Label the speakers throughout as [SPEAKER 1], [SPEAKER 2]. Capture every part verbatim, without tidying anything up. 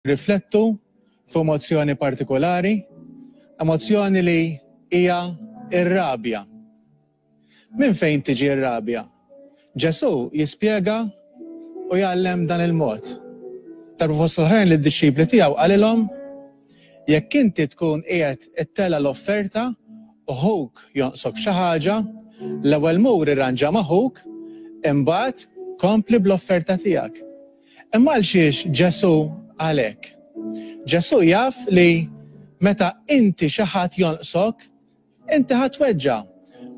[SPEAKER 1] Riflettu fuq emozzjoni partikolari, emozzjoni li hija ir-rabja. Minn fejn tiġi r-rabja? Ġesù jispjega u jgħallem dan il-mod. Darba fost l-oħrajn lid-dixxipli tiegħu qalilhom: "Jekk inti tkun qiegħed ittella' l-offerta u ħuk jonqsok xi ħaġa, l-ewwel mur irranġa ma' ħuk, imbagħad kompli bl-offerta tiegħek." Imma għal xiex Ġesù qal hekk? Ġesù jaf li meta inti xi ħadd jonqsok, inti ħa tweġġa'.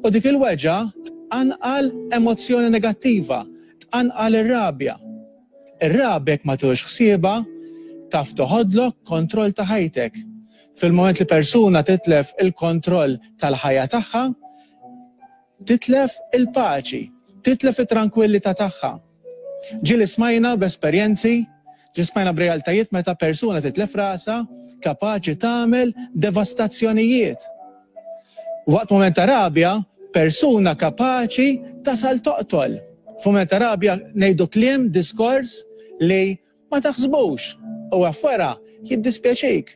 [SPEAKER 1] U dik il-weġgħa tqanqal emozzjoni negattiva, tqanqal ir-rabja. Ir-rabja jekk ma tieħux ħsiebha taf toħodlok kontroll ta' ħajtek. Fil-moment li persuna titlef il-kontroll tal-ħajja tagħha, titlef il-paċi, titlef it-tranquillità tagħha. Ġieli smajna b'esperjenzi, ġieli smajna b'realtajiet meta persuna titlef rasha kapaċi tagħmel devastazzjonijiet. Waqt moment ta' rabja, persuna kapaċi tasal toqtol. F'mument ta' rabja ngħidu kliem, diskors li ma taħsbux u wara jiddispjaċik.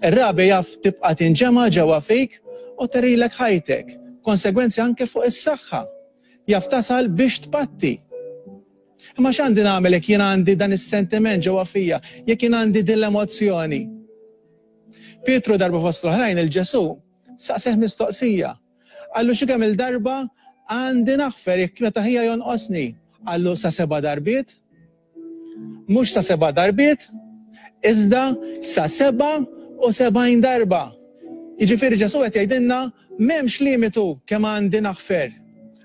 [SPEAKER 1] Ir-rabja jaf tibqa' tinġema' ġewwa fik u terilek ħajtek. Konsegwenzi anke fuq is-saħħa. Jaf tasal biex tpatti. Imma x'għandi nagħmel jekk jien għandi dan is-sentiment ġewwa fija, jekk jien għandi din l-emozzjoni? Pietru darba fost l-oħrajn lil Ġesù saqseh mistoqsija. Qallu: "Xi kemm il-darba għandi naħfer jekk meta ħija jonqosni?" Qallu: "Sa seba' darbiet?" Mhux sa seba' darbiet, iżda sa seba' u sebgħin darba. Jiġifieri Ġesù qed jgħidilna m'hemmx limitu kemm għandi naħfer.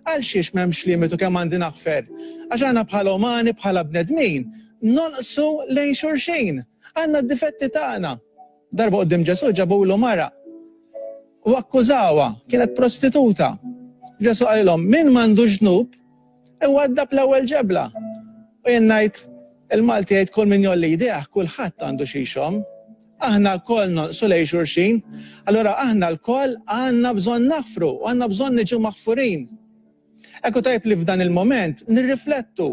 [SPEAKER 1] Għal xiex m'hemmx limitu kemm għandi naħfer? Għax aħna bħala umani, bħala bnedmin, nonqsu lejn xulxin. Għandna d-difetti tagħna. Darba quddiem Ġesù ġabulu mara u akkużawha, kienet prostituta. Ġesù qalilhom: "Min m'għandux dnub, iwaddab l-ewwel ġebla." U jien ngħid, il-Malti jgħid kull min jgħolli jdejh, kulħadd għandu xi jxomm. Aħna lkoll nonqsu lejn xulxin, allura aħna lkoll għandna bżonn naħfru u għandna bżonn niġu maħfurin. Ekku tajb li f'dan il-moment nirriflettu,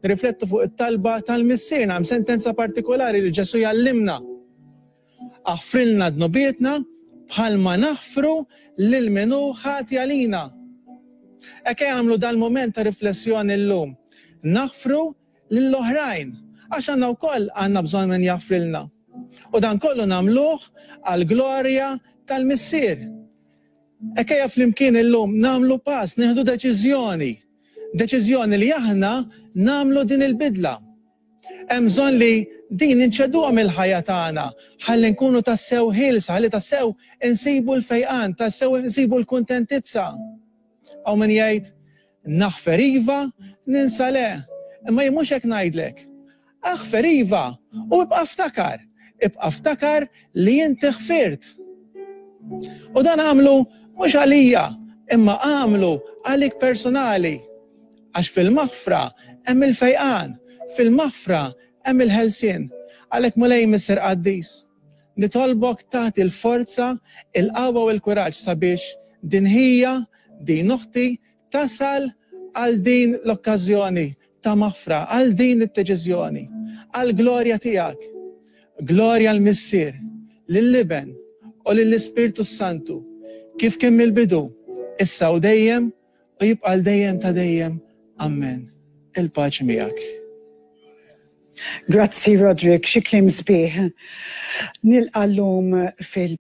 [SPEAKER 1] nirriflettu fuq it-talba tal-Missierna, hemm sentenza partikolari li Ġesù jgħallimna. "Aħfrilna dnubietna bħalma naħfru lil min hu ħati għalina." Ekk għamlu dal-moment ta' riflessjoni llum. Naħfru lill-oħrajn, għax għandna wkoll għandna bżonn min jaħfrilna. U dan kollu nagħmluh għall-glorja tal-Missier. Ekk ejja flimkien illum nagħmlu pass, nieħdu deċiżjoni. Deċiżjoni li aħna nagħmlu din il-bidla. Hemm bżonn li din inċeduha mill-ħajja tagħna, ħalli nkunu tassew ħielsa, ħalli tassew insibu l-fejqan, tassew insibu l-kuntentizza. Hawn min jgħid naħfer iva, ninsa le. Imma jien mhux hekk ngħidlek. Aħfer iva u ibqa' ftakar. Ibqa' ftakar li inti ħfirt. U dan għamlu mhux għalija, imma għamlu għalik personali. Għax fil-maħfra hemm il-fejqan, fil-maħfra hemm il-ħelsien. Għalhekk, Mulej Missier Qaddis, nitolbok tagħti l-forza, il-qawwa u l-kuraġġ sabiex din ħija, din uħti tasal għal din l-okkażjoni ta' maħfra, għal din id-deċiżjoni, għal glorja tiegħek. Glorja lill-Missier, lill-Iben u lill-Ispirtu Santu, kif kien mill-bidu, issa u dejjem u jibqa' dejjem ta' dejjem. Amen. Il-paċi miegħek.
[SPEAKER 2] Grazzi, Roderick, xi kliem sbieħ. Nilqa' llum fil